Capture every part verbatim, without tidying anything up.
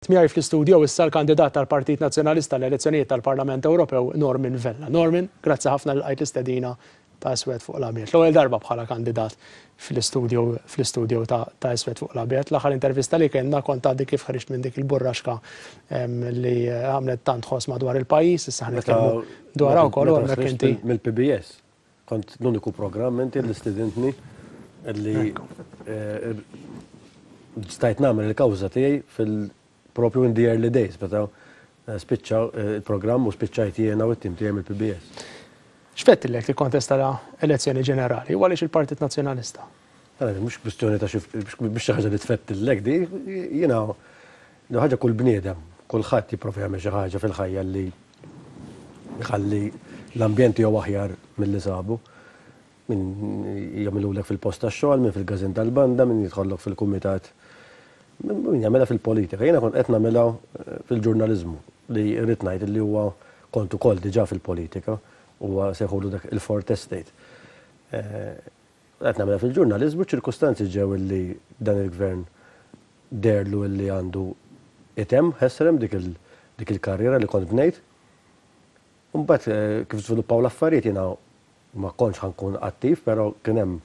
Miegħi fl-istudio issa l-kandidat tal-Partit Nazzjonalista l-elezzjonijiet tal-Parlament Ewropew, Norman Vella. Norman, grazzi ħafna li lqajt l-istedina ta' Iswed fuq l-Abjad. L-ewwel darba bħala kandidat fl-istudio fl-istudio ta' Iswed fuq l-Abjad. L-aħħar intervista li kellna kont għaddi kif ħriġt minn dik il-burraxka li għamlet tant ħoss madwar il-pajjiż, issa ħa nitkellmu dwarha wkoll u hemmhekk inti. Mill-P B S. Kont l-uniku programm inti li stidintni li stajt nagħmel il-kawża tiegħi fil- propju in the early days, meta spiċċa il-programm u spiċċajt jiena u t-tim tiegħi mill-P B S. X'fettillek tikkontesta elezzjoni ġenerali u għaliex il-Partit Nazzjonalista? Mhux kwistjoni ta' biex xi ħaġa li tfettillek di, jiena ħaġa kull bniedem, kulħadd jipprova jagħmel xi ħaġa fil-ħajja li jħalli l-ambjent jew aħjar milli sabu. Min jagħmilulek fil-post tax-xogħol, min fil-każin tal-banda, min jidħollok fil-kumitat, min jagħmilha fil-politika. Jiena kont qed nagħmilha fil-ġurnaliżmu li rrid ngħid li huwa kont ukoll diġà fil-politika, huwa sejħulu dak il-Fourth Estate. Qed nagħmilha fil-ġurnaliżmu, ċirkustanzi ġew li dan il-gvern deherlu li għandu itemm ħesrem dik il-karriera li kont bnejt. Mbagħad kif żviluppaw l-affarijiet, jiena ma kontx ħa nkun attiv, però kien hemm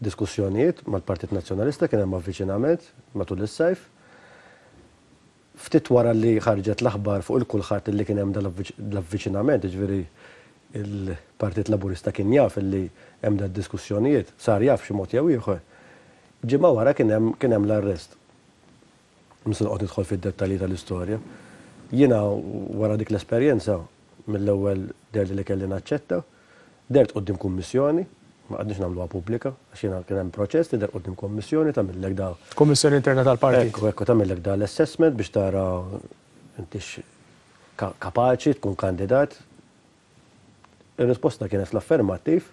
diskussjonijiet mal-Partit Nazzjonalista, kien hemm avviċinament matul is-sajf. Ftit wara li ħarġet l-aħbar fuq il-kulħadd li kien hemm l-avviċinament, ġifieri il-Partit Laburista kien jaf li hemm da diskussjonijiet, sar jaf xi mod jew ieħor. Ġimgħa wara kien hemm kien hemm l-arrest. Mhux se noqgħod nidħol fid-dettalji tal-istorja. Jiena wara dik l-esperjenza mill-ewwel deherli li kelli naċċetta, dehert quddiem kummissjoni, ma qgħadniex nagħmluha pubblika, għax jiena kien hemm proċess li deher quddiem kommissjoni, tagħmillek da. Kommissjoni interna tal-partit. Ekku, ekku, tagħmillek da l-assessment biex tara intix kapaċi tkun kandidat. Ir-risposta kienet fl-affermattiv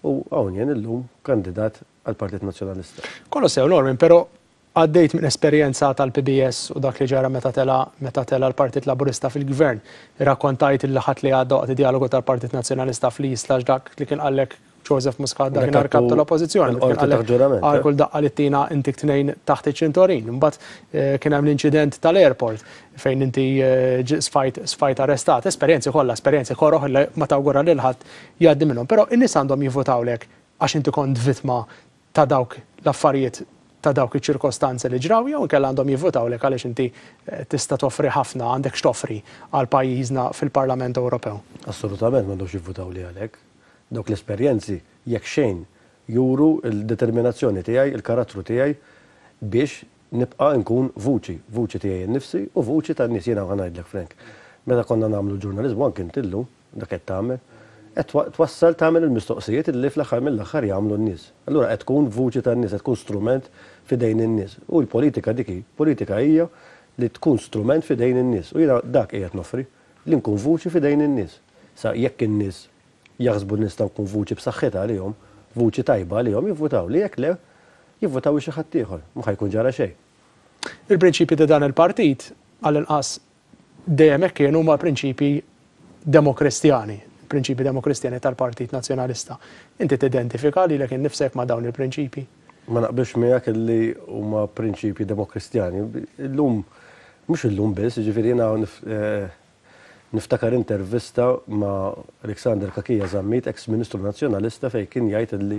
u hawn jien illum kandidat għall-Partit Nazzjonalista. Kollu sew, Norman, però għaddejt minn esperjenza tal-P B S u dak li ġara meta tela meta tela l-Partit Laburista fil-Gvern. Irrakkontajt il-Ħadd li għadda waqt dialogu tal-Partit Nazzjonalista fl-Isla dak li kien qallek Joseph Muscat dakinhar kap tal-Oppożizzjoni. Għal kull daqqa li tina intik tnejn taħt iċ-ċintorin. Imbagħad eh, kien hemm l-inċident tal-airport fejn inti eh, sfajt sfajt arrestat. Esperjenzi kollha, esperjenzi koroh li ma tawgura lil ħadd jgħaddi minnhom. Però in-nies għandhom jivvotawlek għax inti kont vittma ta' dawk l-affarijiet, ta' dawk iċ-ċirkostanzi li ġraw, jew inkella għandhom jivvotawlek għaliex inti eh, tista' toffri ħafna, għandek x'toffri għal pajjiżna fil-Parlament Ewropew? Assolutament m'għandhomx jivvotaw li għalhekk. Dawk l-esperjenzi jekk xejn juru l-determinazzjoni tiegħi, il-karattru tiegħi biex nibqa' nkun vuċi, vuċi tiegħi nnifsi u vuċi tan-nies. Jiena ħa ngħidlek, Frank. Meta konna nagħmlu ġurnaliżmu, anke inti llum dak qed tagħmel, qed twassal, tagħmel il-mistoqsijiet li fl-aħħar mill-aħħar jagħmlu n-nies. Allura qed tkun vuċi tan-nies, qed tkun strument f'idejn in-nies. U l-politika dik hi, politika hija li tkun strument f'idejn in-nies. U jiena dak qiegħed noffri, li nkun vuċi f'idejn in-nies. Sa jekk in-nies jaħsbu nista' nkun vuċi b'saħħitha għalihom, vuċi tajba għalihom, jivvutaw li, jekk le, jivvutaw xi ħadd ieħor, ma ħa jkun ġara xejn. Il-prinċipji ta' dan il-partit, għall-inqas dejjem hekk kienu, huma prinċipji demokristjani, prinċipji demokristjani tal-Partit Nazzjonalista. Inti tidentifika lilek innifsek ma' dawn il-prinċipji? Ma naqbilx miegħek li huma prinċipji demokristjani. Illum, mhux illum biss, ġifieri jiena eh, niftakar intervista ma' Alexander Cachia Zammit, ex-Ministru Nazzjonalista, fejn kien jgħid li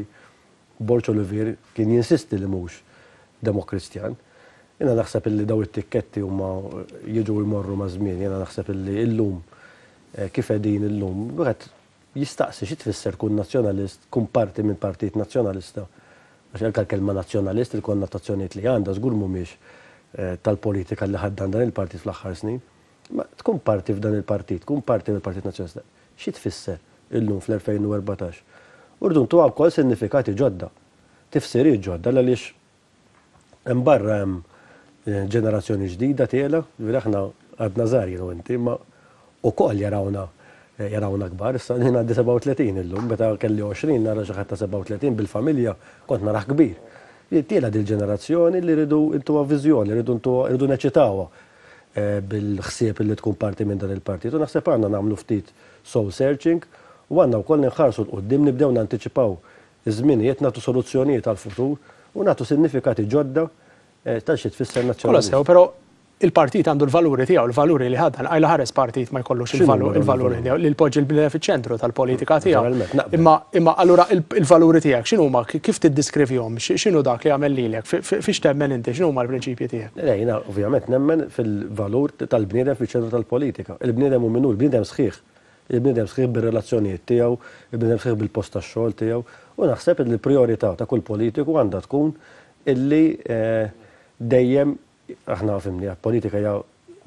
Borg Olivier kien jinsisti li mhux demokristjan. Jiena naħseb illi daw it-tikketti huma jiġu jmorru ma' żmien, jiena naħseb illi illum eh, kif qegħdin illum, wieħed jistaqsi xi tfisser kun nazzjonalist, kun parti minn partit nazzjonalista. Għax anke l-kelma nazzjonalist, il-konnotazzjonijiet li għandha żgur mhumiex eh, tal-politika li ħaddan dan il-partit fl-aħħar snin. Ma tkun parti f'dan il-partit, tkun parti mill-Partit Nazzjonalista. Xi tfisser illum fl-elfejn u erbatax? Irridu ntuha wkoll sinifikati ġodda, tifsiriet ġodda, għaliex hemm barra hemm eh, ġenerazzjoni ġdida tiela, ġifieri aħna għadna żgħar jien u inti, ma ukoll jarawna eh, jarawna kbar, issa jien għandi sebgħa u tletin illum, meta kelli għoxrin nara xi ħadd ta' sebgħa u tletin bil-familja kont narah kbir. Tiela dil-ġenerazzjoni li rridu ntuha viżjoni, rridu ntuha, rridu neċitawha eh, bil-ħsieb li tkun parti minn dan il-partit. U naħseb għandna nagħmlu ftit soul searching u għandna wkoll nħarsu 'l quddiem, nibdew nantiċipaw iż-żminijiet, nagħtu soluzzjonijiet għal-futur u nagħtu sinifikati ġodda eh, tal xi tfisser Kolla nazzjonalist. Sew, però Il-partit għandu l-valuri tiegħu, l-valuri li ħaddan, għajla ħares partit ma jkollux il-valuri tiegħu, li l-poġġi l-bniedem fiċ-ċentru tal-politika tiegħu. Imma imma allura il-valuri tiegħek x'inhuma, kif tiddiskrivihom, x'inhu dak li għamel lilek, fiex temmen inti, x'inhuma l-prinċipji tiegħek? Le, jiena ovvjament nemmen fil-valur tal-bniedem fiċ-ċentru tal-politika. Il-bniedem hu minnu, il-bniedem sħiħ. Il-bniedem sħiħ bir-relazzjonijiet tiegħu, il-bniedem sħiħ bil-post tax-xogħol tiegħu. U naħseb li l-prijorità ta' kull politiku għandha tkun illi dejjem aħna fimni, politika hija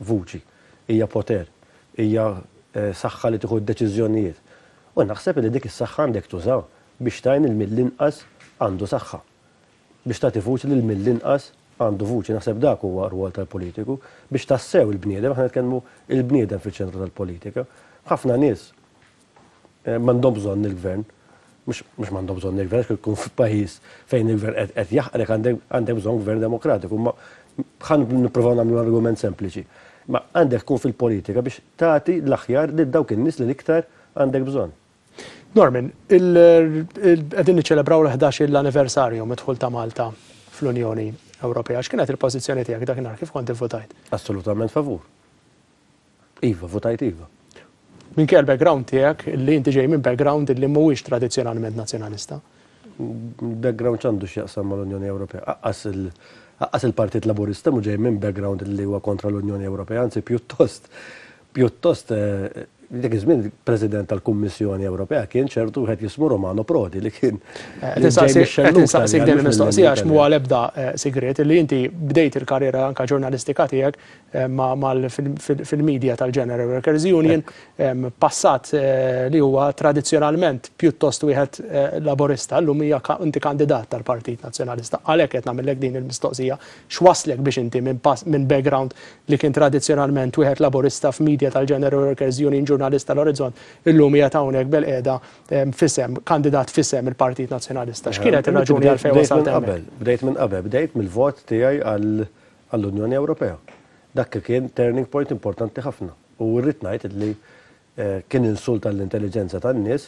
vuċi, hija poter, hija saħħa li tieħu d-deċiżjonijiet. U naħseb li dik is-saħħa għandek tuża biex tgħin il mill-inqas għandu saħħa. Biex tagħti vuċi lil mill-inqas għandu vuċi, naħseb dak huwa rwol tal-politiku biex tassew il-bniedem, aħna nitkellmu il-bniedem fiċ-ċentru tal-politika. Ħafna nies m'għandhom bżonn il-gvern, mhux m'għandhom bżonn il-gvern, għax ikun f'pajjiż fejn il-gvern qed jaħqrek għandek bżonn gvern demokratiku, ma ħan nipprovaw nagħmlu argument sempliċi. Ma għandek tkun fil-politika biex tagħti l-aħjar lil dawk in-nies li l-iktar għandek bżonn. Norman, qegħdin niċċelebraw l-ħdax l-anniversarju mid-dħul ta' Malta fl-Unjoni Ewropea. X'kienet il-pożizzjoni tiegħek dakinhar, kif kont ivvutajt? Assolutament favur. Iva, votajt iva. Minkejja l-background tiegħek li inti ġej minn background li mhuwiex tradizzjonalment nazzjonalista. Background x'għandu x'jaqsam mal-Unjoni Ewropea? Aqqas il- Aqqas il-Partit Laburista mhu ġej minn background li huwa kontra l-Unjoni Ewropea, anzi pjuttost pjuttost dak iż-żmien President tal-Kummissjoni Ewropea kien ċertu wieħed jismu Romano Prodi li kien. Qed insaqsik din il-mistoqsija għax mhu għal-ebda sigriet li inti bdejt il-karriera anka ġurnalistika tiegħek fil-media tal-General Workers Union, passat li huwa tradizzjonalment pjuttost wieħed laburista, llum hija inti kandidat tal-Partit Nazzjonalista. Għalhekk qed nagħmellek din il-mistoqsija, x'waslek biex inti minn background li kien tradizzjonalment wieħed laburista f'media tal-General Workers Union, ġurnalista l-Orizzont, illum hija hawnhekk bil-qiegħda fisem, kandidat fisem il-Partit Nazzjonalista. X'kienet ir-raġuni għalfejn wasalt hemmhekk? Bdejt minn qabel, bdejt mill-vot tiegħi għall-Unjoni Ewropea. Dak kien turning point importanti ħafna. U rrid ngħid li kien insult għall-intelligenza tan-nies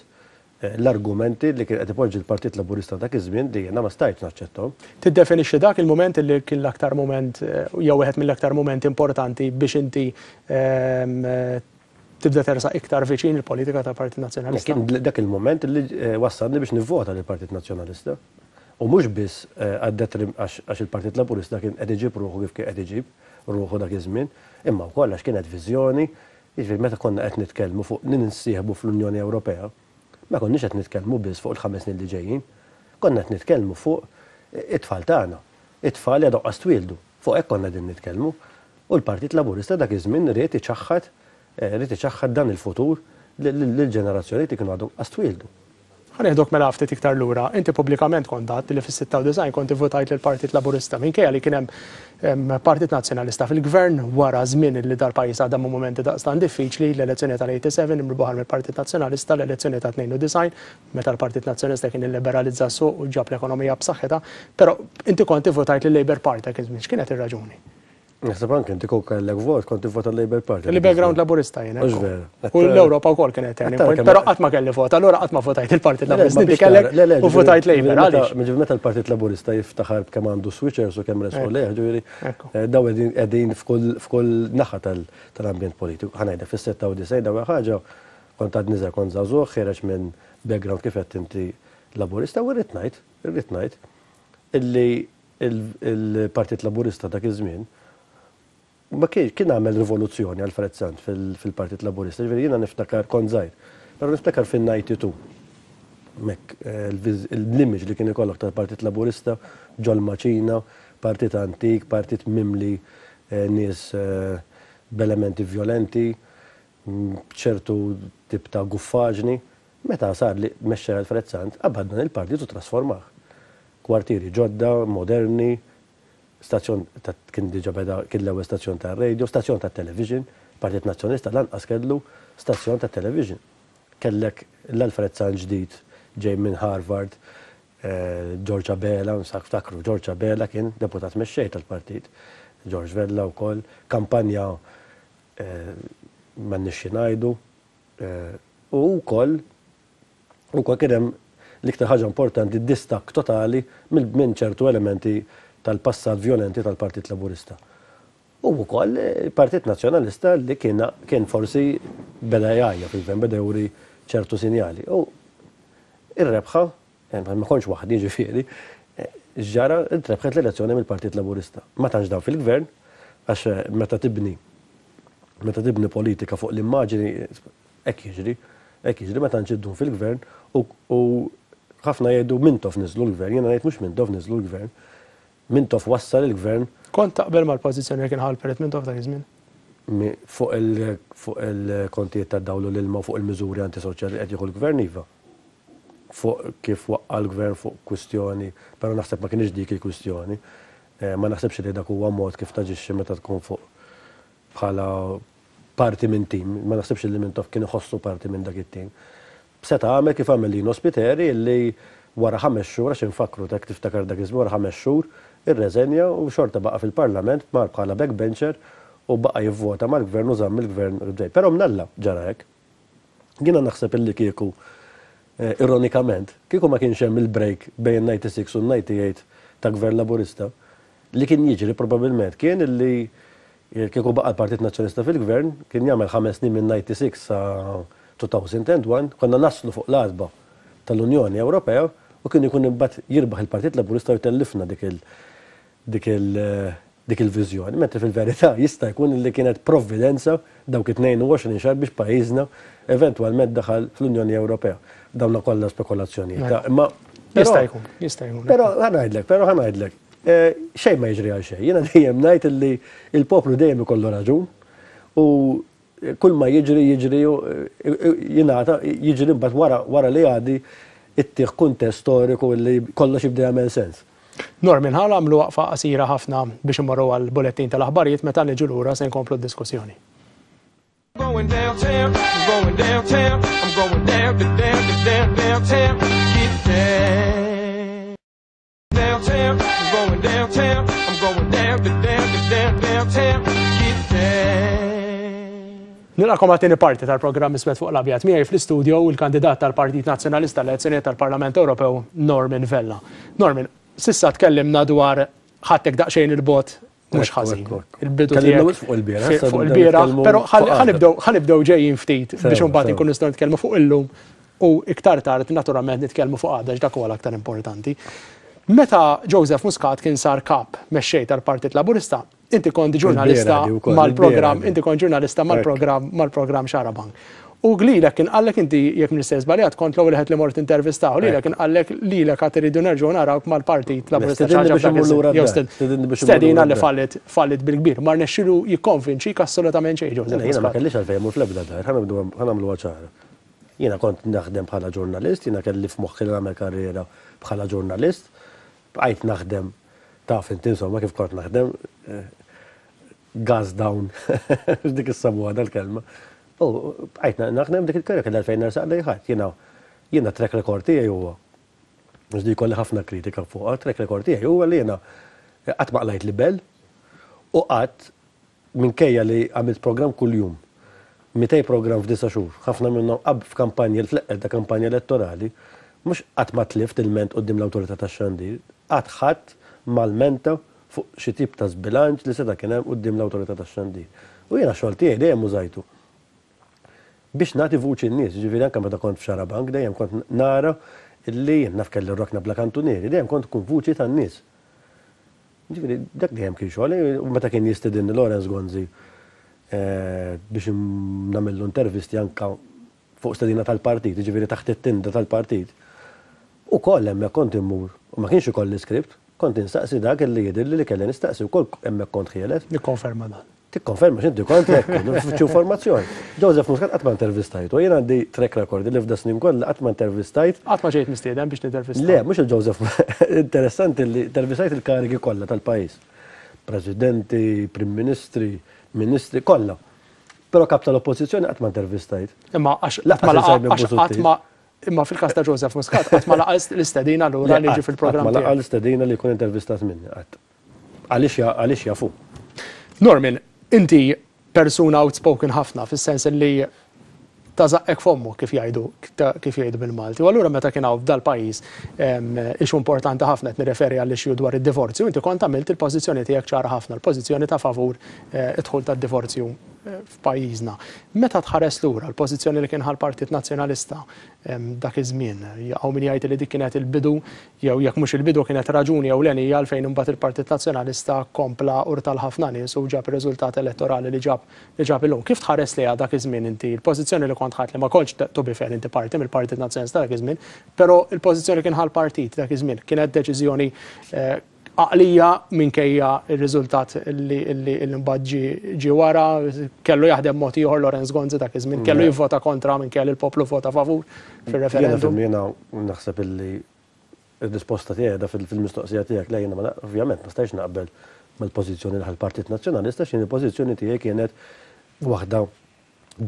l-argumenti li kien qed ipoġġi l-Partit Laburista dak iż-żmien li jiena ma stajtx naċċettahom. Tiddefinixxi dak il-mument li kien l-aktar mument jew wieħed mill-aktar momenti importanti biex inti tibda tersaq iktar viċin il-politika tal-Partit Nazzjonalista? Kien dak il-moment li wassalni biex nivvota lill-Partit Nazzjonalista. U mhux biss għax il-Partit Laburista kien qed iġib ruħu kif kien qed iġib ruħu dak iż-żmien, imma wkoll għax kienet viżjoni, jiġifieri meta konna qed nitkellmu fuq ninsieħbu fl-Unjoni Ewropea, ma konniex qed nitkellmu biss fuq il-ħames snin li ġejjin, konna qed nitkellmu fuq it-tfal tagħna, it-tfal li għadhom qas twieldu, fuq hekk konna qegħdin nitkellmu. U l-Partit Laburista dak iż-żmien ried iċaħħad ried iċaħħad dan il-futur lill-ġenerazzjoni li kienu għadhom qas twieldu. Ħa nieħdok mela ftit iktar lura. Inti pubblikament kont għedt li fis-sitta u disgħin kont ivvutajt lill-Partit Laburista minkejja li kien hemm Partit Nazzjonalista fil-Gvern wara żmien li dal-pajjiż għadha minn mumenti daqstant diffiċli, l-elezzjoni tal-eighty-seven imrubaħar mill-Partit Nazzjonalista, l-elezzjoni ta' tnejn u disgħin meta l-Partit Nazzjonalista kien illiberalizza s-suq u ġab l-ekonomija b'saħħitha, però inti kont ivvutajt lill-Labour Party dak iż-żmien. X'kienet ir-raġuni? Naħseb anke inti kont kellek vot, kont tivvota l-Labour Party. Li background Laburista jien, Mhux ekku. vera. U l-Ewropa wkoll kienet turning Għattara point, kemm però qatt ma kelli vot, allura qatt ma votajt il-Partit Le, le, Laburista. ma Inti biex kellek tara, le, le, u votajt ġifieri, Labour, meta- għaliex? Ġifieri meta l-Partit Laburista jiftaħar b'kemm għandu switchers u kemm resqu Ekku. lejh, ġifieri, Ekku. eh, daw qegħdin, qegħdin f'kull, f'kull naħa tal-, tal-ambjent politiku. Ħa ngħidlek fis-sitta u disgħin daw ħaġa kont għad niżel kont żagħżugħ, ħiereġ minn background kif qed inti Laburista u rrid ngħid, irrid ngħid illi il-Partit Laburista dak iż-żmien ma kien, kien għamel rivoluzzjoni Alfred Sant fil-, fil-Partit Laburista, ġifieri jiena niftakar kont żgħir, però niftakar fin-ninety-two. Mek, eh, l-image li kien ikollok tal-Partit Laburista ġol maċina, partit antik, partit mimli, eh, nies, eh, b'elementi violenti, ċertu tip ta' guffaġni. Meta sar li mexxa Alfred Sant, qabad dan il-partit u trasformah. Kwartieri ġodda, moderni, stazzjon ta' kien diġà beda, kien l-ewwel stazzjon ta' radio, stazzjon ta' television, Partit Nazzjonalista lanqas kellu stazzjon ta' television. Kellek l-Alfred Sant ġdid ġej minn Harvard, eh, George Abela, nsak ftakru, George Abela kien deputat mexxej tal-partit, George Vella wkoll, kampanja, eh, m'għandniex xi ngħidu, eh, u wkoll ukoll kien hemm l-iktar ħaġa importanti distakk totali minn ċertu elementi tal-passat violenti tal-Partit Laburista. U wkoll il-Partit Nazzjonalista li kien kien forsi beda jgħajja fil-gvern, beda juri ċertu sinjali. U ir-rebħa, ma kontx waħdi ġifieri, ġara ntrebħet l-elezzjoni mill-Partit Laburista. Ma tantx daw fil-gvern, għax meta tibni meta tibni politika fuq l-immaġini, hekk jiġri, hekk jiġri, ma tantx iddum fil-gvern u ħafna jgħidu Mintoff niżlu l-gvern, jiena ngħid mhux Mintoff niżlu l-gvern, Mintoff wassal il-gvern. Kont taqbel mal-pożizzjoni li kien ħa l-Perit Mintoff dak iż-żmien? Fuq il-kontijiet tad-dawl u l-ilma u fuq il-miżuri antisoċjali li qed jieħu l-gvern, iva. Fuq kif waqqa' l-gvern fuq kwistjoni, però naħseb ma kienx dik il-kwistjoni. Ma naħsebx li dak huwa mod kif taġixxi meta tkun fuq bħala parti minn tim, ma naħsibx li Mintoff kien iħossu parti minn dak it-tim. Seta' għamel kif għamel Lino Spiteri li wara ħames xhur, għax infakkru dak tiftakar dak iż-żmien, wara ħames xhur irreżenja u xorta baqa' fil-Parlament, mar bħala backbencher u baqa' jivvota mal-gvern u żamm il-gvern ġej. Però mnalla ġara hekk. Jiena naħseb illi kieku, ironikament, kieku ma kienx hemm il-break bejn ninety-six u ninety-eight ta' gvern Laburista, li kien jiġri probabbilment kien illi kieku baqa' l-Partit Nazzjonalista fil-gvern, kien jagħmel ħames snin minn ninety-six sa two thousand and one, konna naslu fuq l-għatba tal-Unjoni Ewropea u kien ikun imbagħad jirbaħ il-Partit Laburista u jtellifna dik il-, dik il-, dik il-viżjoni. Mentri fil-verità jista' jkun li kienet provvidenza dawk it-tnejn u għoxrin xahar biex pajjiżna eventwalment daħal fl-Unjoni Ewropea. Dawna kollha spekulazzjonijiet. Imma jista' jkun, jista' jkun. Però ħa ngħidlek, però ħa ngħidlek, xejn ma jiġri għal xejn. Jiena dejjem ngħid li l-poplu dejjem ikollu raġun u kull ma jiġri jiġri jingħata jiġri mbagħad wara, wara li għadi ittieħ kuntest storiku li kollox jibda jagħmel sens. Norman, ħa nagħmlu waqfa qasira ħafna biex immorru għal bulettin tal-aħbarijiet, meta niġu lura se nkomplu d-diskussjoni. Going downtown, I'm going downtown, I'm going down to down to down downtown, get down. Downtown, I'm going downtown, I'm going down to down to down downtown, get down. Nilqakom għat-tieni parti tal-programm Iswed fuq l-Abjad. Miegħi fl-istudio il-kandidat tal-Partit Nazzjonalista l-elezzjonijiet tal-Parlament Ewropew, Norman Vella. Norman, sissa tkellimna dwar ħadtek daqsxejn il-bot mhux ħażin. Il-bidu Tkellimna fuq il-bieraħ, issa fuq nibdew il-bieraħ, nitkellmu però fuq għada. ħanibdew, ħanibdew ġejjin ftit Sewa, biex imbagħad sewa. inkunu nistgħu nitkellmu fuq illum u iktar tard naturalment nitkellmu fuq għada, x'dak huwa l-aktar importanti. Meta Joseph Muscat kien sar kap mexxej tal-Partit Laburista, inti kont ġurnalista Il-bieraħ di wkoll, mal-programm, il-bieraħ di. inti kont ġurnalista mal-programm, mal-programm Xarabank. U lilek kien qallek inti, jekk m'iniex żbaljat, kont l-ewwel wieħed li mort intervistaw, lilek kien qallek lilek għad iridu nerġgħu narawk mal-Partit Laburista. Stedinni xi ħaġa biex f'dak immur iż-żmien. lura Jew d-dar. sted- Stedinni biex immur Stedina lura li d-dar. fallit, fallit bil-kbir. Ma rnexxilu jikkonvinċik assolutament xejn Joseph Jiena ma Muscat. kellix għalfejn immur fl-ebda dar, ħa nibdu ħa nagħmluha ċara. Jiena kont naħdem bħala ġurnalist, jiena kelli f'moħħi li nagħmel karriera bħala ġurnalist, bqajt naħdem, taf inti insomma kif kont naħdem, eh, gas down, dik is-sabuha dal-kelma. U bqajt naħdem dik il-karriera kelli għalfejn nersaq lejn ħadd. Jiena jiena track record tiegħi huwa, mhux di jkolli ħafna kritika fuqha, track record tiegħi huwa li jiena qatt ma qlajt libel u qatt minkejja li għamilt programm kuljum, mitej programm f'disa' xhur, ħafna minnhom qab f'kampanja, fl-eqqel ta' kampanja elettorali, mhux qatt ma tlift ilment quddiem l-awtorità tax-xandir, qatt ħadd malmenta fuq xi tip ta' żbilanċ li seta' kien hemm quddiem l-awtorità tax-xandir. U jiena xogħol tiegħi dejjem użajtu biex nagħti vuċi n-nies, ġifieri anke meta kont f'Xarabank dejjem kont nara illi jien naf kelli rokna bla kantunieri, dejjem kont kun vuċi tan-nies. Ġifieri dak dejjem kien xogħol, u meta kien jistedinni Lawrence Gonzi, eh, biex nagħmillu intervisti anka fuq stedina tal-partit, ġifieri taħt it-tinda tal-partit. U koll hemmhekk kont immur, u ma kienx ikolli skript, kont instaqsi dak li jidhirli li kelli nistaqsi, u koll hemmhekk kont ħieles. Nikkonferma dan. Tikkonferma x'inti kont hekk, nfittxu informazzjoni. Joseph Muscat qatt ma intervistajt, u jien għandi track record li f'da snin kollha qatt ma intervistajt. Qatt ma ġejt mistieden biex nintervista. Le, mhux il-Joseph, interessanti li intervistajt il-karigi kollha tal-pajjiż. Presidenti, Prim Ministri, Ministri, kollha. Però kap tal-oppożizzjoni qatt ma intervistajt. Imma għax Lanqas qatt ma laqa- il-Simon għax qatt Busuttil. ma imma fil-każ ta' Joseph Muscat qatt ma laqa l-istedina lura li jiġi fil-programm Qatt ma laqa tiegħek. l-istedina li jkun intervistat minni qatt. Għaliex ja-, għaliex jafu. Norman, inti persuna outspoken ħafna, fis-sens li ta' żaqqek f'ommok kif jgħidu kif jgħidu bil-Malti. U allura meta kien hawn f'dal-pajjiż issue importanti ħafna, qed nirreferi għall-issue dwar id-divorzju, inti kont għamilt il-pożizzjoni tiegħek ċara ħafna, l-pożizzjoni ta' favur id-dħul tad-divorzju f'pajjiżna. Meta tħares lura l-pożizzjoni li kien ħa l-Partit Nazzjonalista dak iż-żmien, hawn min jgħid li dik kienet il-bidu, jew jekk mhux il-bidu kienet raġuni jew ewlenija għalfejn imbagħad il-Partit Nazzjonalista kompla urta ħafna nies u ġab ir-riżultat elettorali li ġab li ġab illum. Kif tħares lejha dak iż-żmien inti l-pożizzjoni li kont ħadt, li ma kontx, to be fair, inti parti mill-Partit Nazzjonalista dak iż-żmien, però il-pożizzjoni kien ħa l-partit dak iż-żmien kienet deċiżjoni għaqlija minkejja il-riżultat li mbagħad ġie wara? Kellu jaħdem mod ieħor Lawrence Gonzi dak iż-żmien, kellu jivvota kontra minkejja li l-poplu vota favur fir-referendum? Jiena naħseb illi ir-risposta tiegħi da fil-mistoqsija tiegħek. Le, jiena ovvjament ma stajx naqbel mal-pożizzjoni li l-Partit Nazzjonalista, x'in il-pożizzjoni tiegħi kienet waħda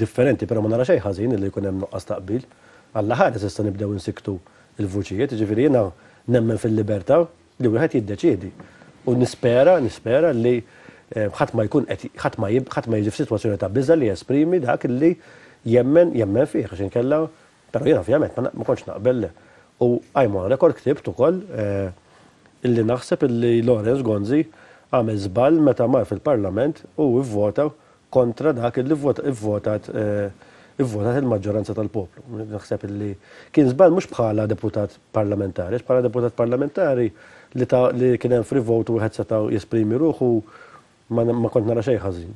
differenti, però ma nara xejn ħażin li jkun hemm nuqqas taqbil. Alla ħares issa nibdew insiktu il-vuċijiet, ġifieri jiena nemmen fil-libertà li wieħed jiddeċiedi. U nispera, nispera li ħadd ma jkun qed ħadd ma ħadd ma jiġi f'sitwazzjoni ta' biża' li jesprimi dak li jemmen jemmen fih, għax inkella, però jiena ovvjament ma kontx naqbel. U I'm on record, ktibt ukoll illi naħseb illi Lawrence Gonzi għamel żball meta mar fil-Parlament u vvota kontra dak illi vvotat ivvotat il-maġġoranza tal-poplu. Naħseb illi kien żball mhux bħala deputat parlamentari, bħala deputat parlamentari li ta' li kien hemm free vote u wieħed seta' jesprimi ruħu ma, ma kont nara xejn ħażin.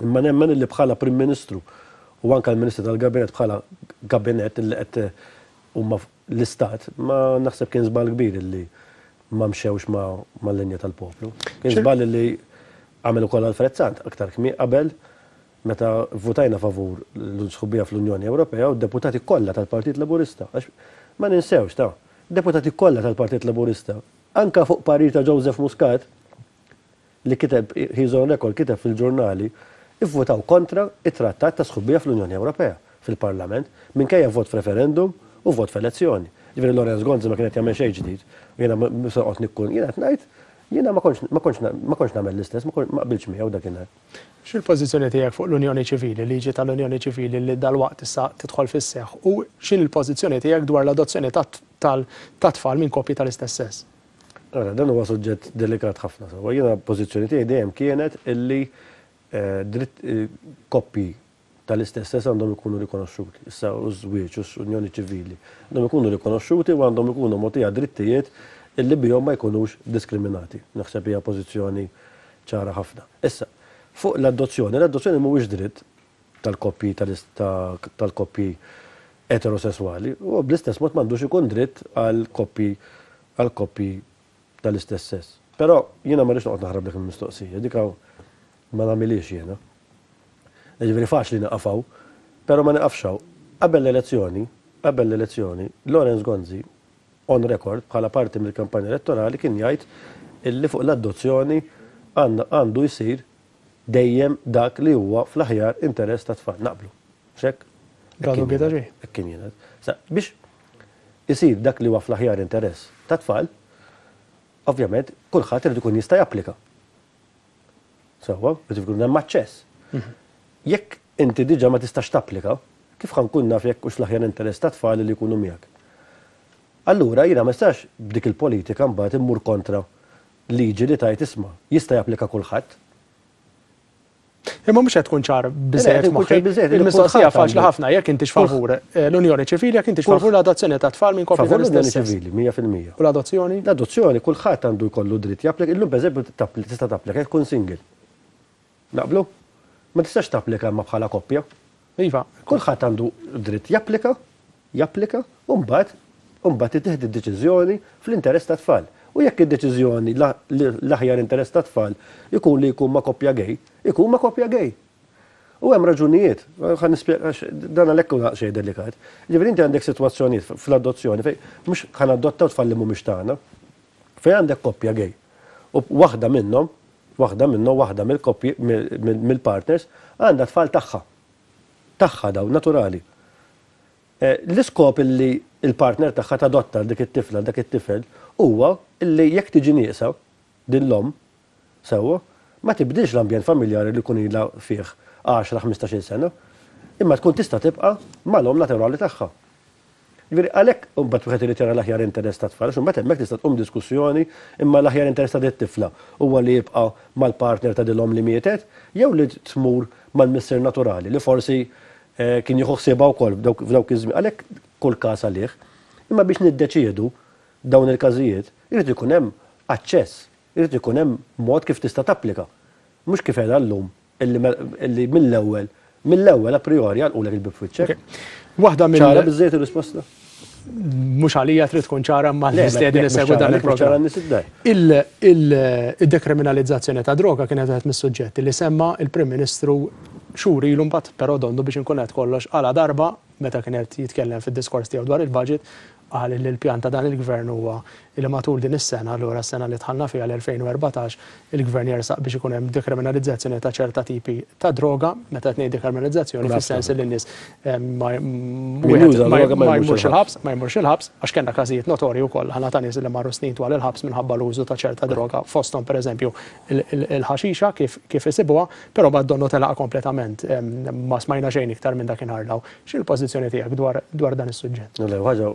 Imma nemmen illi bħala Prim Ministru u anke l-Ministru tal-Gabinet, bħala gabinet illi qed huma l-Istat, ma naħseb kien żball kbir illi ma mxewx ma l-linja tal-poplu. Kien żball illi għamel ukoll Alfred Sant aktar kmi qabel, meta votajna favur l-sħubija fl-Unjoni Ewropea u d-deputati kollha tal-Partit Laburista. Għax ma ninsewx ta' deputati kollha tal-Partit Laburista, anka fuq parir ta' Joseph Muscat, li kiteb, he's on record, kiteb fil-ġurnali, ivvotaw kontra it-trattat ta' sħubija fl-Unjoni Ewropea fil-Parlament, minkejja vot f'referendum u vot f'elezzjoni. Ġifieri Lawrence Gonzi ma kienet jagħmel xejn ġdid. Jiena mhux se noqgħod nikkun, jiena qed ngħid, jiena ma kontx ma kontx ma kontx nagħmel l-istess, ma qbilx miegħu dakinhar. X'il-pożizzjoni tiegħek fuq l-Unjoni Ċivili, liġi tal-Unjoni Ċivili li dalwaqt issa tidħol fis-seħħ, u x'in il-pożizzjoni tiegħek dwar l-adozzjoni tat-tfal minn koppji tal-istess sess? Ara, dan huwa suġġett delikat ħafna. Sewwa, jiena pożizzjoni tiegħi dejjem kienet illi dritt koppji tal-istess sess għandhom ikunu rikonoxxuti. Issa u żwieġ u unjoni ċivili għandhom ikunu rikonoxxuti u għandhom ikunu mogħtija drittijiet illi bihom ma jkunux diskriminati. Naħseb hija pożizzjoni ċara ħafna. Issa, fuq l-adozzjoni, l-adozzjoni mhuwiex dritt tal-koppji tal-koppji eterosessuali, u bl-istess mod m'għandux ikun dritt għal koppji għal koppji tal-istess sess. Però jiena ma rridx noqgħod naħrab dik il-mistoqsija, dik ma nagħmilix jiena. Ġifieri faċli naqaf hawn, però ma naqafx hawn. Qabel l-elezzjoni, qabel l-elezzjoni, Lawrence Gonzi on record bħala parti mill-kampanja elettorali kien jgħid illi fuq l-adozzjoni għandu jsir dejjem dak li huwa fl-aħjar interess ta' tfal. Naqblu. Xek? Għadu bieda ġej. Hekk kien jingħad. Sa biex isir dak li huwa fl-aħjar interess ta' tfal, ovvjament kulħadd irid ikun jista' japplika. Sewwa, irid ikun hemm aċċess. Jekk inti diġà ma tistax tapplika, kif ħa nkun naf jekk hux l-aħjar interess ta' tfal li jkunu miegħek? Allura jiena ma nistax b'dik il-politika mbagħad immur kontra liġi li tajt isma' jista' japplika kulħadd. Imma mhux qed tkun ċar biżejjed moħħi. Il-mistoqsija faċli ħafna: jekk intix favur l-Unjoni Ċivili, jekk intix favur l-adozzjoni ta' tfal minn koppji tal-istess sess. Ċivili, mija fil-mija. U l-adozzjoni? L-adozzjoni kulħadd għandu jkollu dritt japplika. Illum pereżempju tista' tapplika jekk tkun single. Naqblu? Ma tistax tapplika ma bħala koppja. Iva. Kulħadd għandu dritt japplika, japplika, u mbagħad u mbagħad tittieħed id-deċiżjoni fl-interess ta' tfal. U jekk id-deċiżjoni l-aħjar interess ta' tfal ikun li jkun ma' koppja gay, ikun ma' koppja gay. U hemm raġunijiet, ħa nispjega, dan għalhekk hu xejn delikat. Ġifieri inti għandek sitwazzjonijiet fl-adozzjoni fejn mhux ħa nadottaw tfal li mhumiex tagħna, fejn għandek koppja gay. U waħda minnhom, waħda minnhom, waħda mill-koppji, mill-partners għandha tfal tagħha. Tagħha daw, naturali. L-iskop illi il-partner tagħha tadotta dik it-tifla, dak it-tifel, huwa illi jekk tiġi nieqsa din l-omm, sewwa, ma tibdilx l-ambjent familjari li jkun ilha fih għaxra ħmistax-il sena. Imma tkun tista' tibqa' mal-omm naturali tagħha. Ġifieri għalhekk imbagħad wieħed irid jara l-aħjar interess tat-tfal, għax imbagħad hemmhekk tista' tqum diskussjoni imma l-aħjar interess ta' din it-tifla huwa li jibqa' mal-partner ta' din l-omm li mietet jew li tmur mal-missier naturali li forsi kien jieħu ħsiebha wkoll f'dawk iż-żmien. Għalhekk kull każ għalih. Imma biex niddeċiedu dawn il-każijiet irid ikun hemm aċċess, irid ikun hemm mod kif tista' tapplika. Mhux kif qiegħda llum illi mill-ewwel mill-ewwel a priori għalqulek il-bieb f'wiċċek. Waħda mill Ċara biżżejjed ir-risposta? Mhux għalija trid tkun ċara ma nies li qegħdin isegwu dan il-programm. Il-dekriminalizzazzjoni ta' droga kienet wieħed mis-suġġetti li semma il-Prim Ministru xhur ilu mbagħad, però donnu biex inkun qed kollox għala darba meta kien qed jitkellem fid-diskors tiegħu dwar il-budget qal li l-pjan ta' dan il-gvern huwa li matul din is-sena, allura s-sena li dħalna fiha l-elfejn u erbatax, il-gvern jersaq biex ikun hemm dekriminalizzazzjoni ta' ċerta tipi ta' droga, meta qed ngħid dekriminalizzazzjoni fis-sens li n-nies ma jmurx il-ħabs, ma jmurx il-ħabs, għax kellna każijiet notorji wkoll ħana ta' nies li marru snin twal il-ħabs minħabba l-użu ta' ċerta droga, fosthom pereżempju il-ħaxixa kif kif isibuha, però bad donnu telaqa kompletament, ma smajna xejn iktar minn dakinhar law. X'inhi l-pożizzjoni tiegħek dwar dwar dan is-suġġett? Le, ħaġa